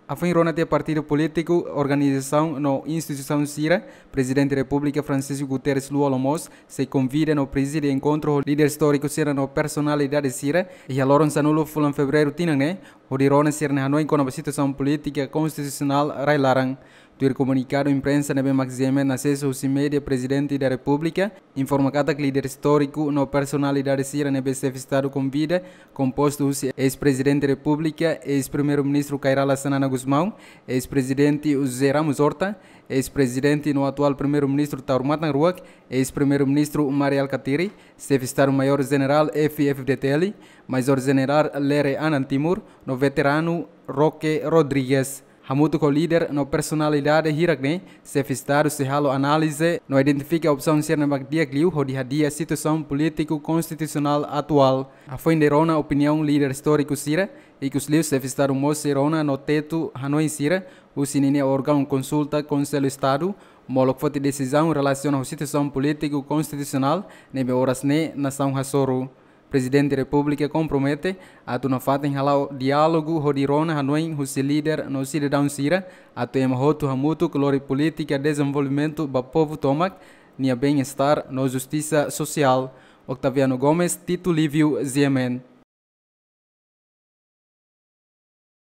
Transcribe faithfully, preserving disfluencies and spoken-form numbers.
Hafoin rona tiha partidu polítiku, organizasaun no instituisaun sira, Prezidente Repúblika Francisco Guterres Lú Olo mós sei konvida no prezide enkontru ho líder istóriku sira no personalidade sira iha loron sanulu fulan Fevereiru tinan ne'e, hodi rona sira-nia hanoin kona-ba situasaun polítika konstitusionál rai-laran. Tuir komunikadu imprensa ne'ebé mak GMN asesa husi média, Prezidente da Repúblika informa katak líder istóriku no personalidade sira ne'ebé Xefe Estadu konvida kompostu husi eis-Prezidente Repúblika, eis-Primeiru-Ministru Kay Rala Xanana Gusmão, eis-Prezidente José Ramos Horta, eis-Prezidente no atuál Primeiru-Ministru Taur Matan Ruak, eis-Primeiru-Ministru Mari Alkatiri, Xefe Estadu-Maiór Jenerál F-FDTL, Majór Jenerál Lere Anan Timur, no veteranu Roque Rodrigues. Hamutuk ho líder no personalidade hirak-ne'e, Xefe Estadu sei halo análize no identifika opsaun sira ne'ebé mak di'ak liu hodi hadi'a situasaun polítiku konstitusionál atuál. Hafoin de rona opiniaun líder istóriku sira, ikus liu Xefe Estadu mós sei rona no tetu hanoin sira husi ninia órgaun konsulta Konsellu Estadu, molok foti desizaun relasiona ho situasaun polítiku konstitusionál ne'ebé oras ne'e nasaun hasoru. Prezidente Repúblika kompromete atu nafatin hala'o diálogu hodi rona hanoin husi líder no sidadaun sira, atu ema hotu hamutuk lori polítika dezenvolvimentu ba povu tomak nia bem-estar no justisa sosiál. Octaviano Gomes, Tito Lívio, GMN.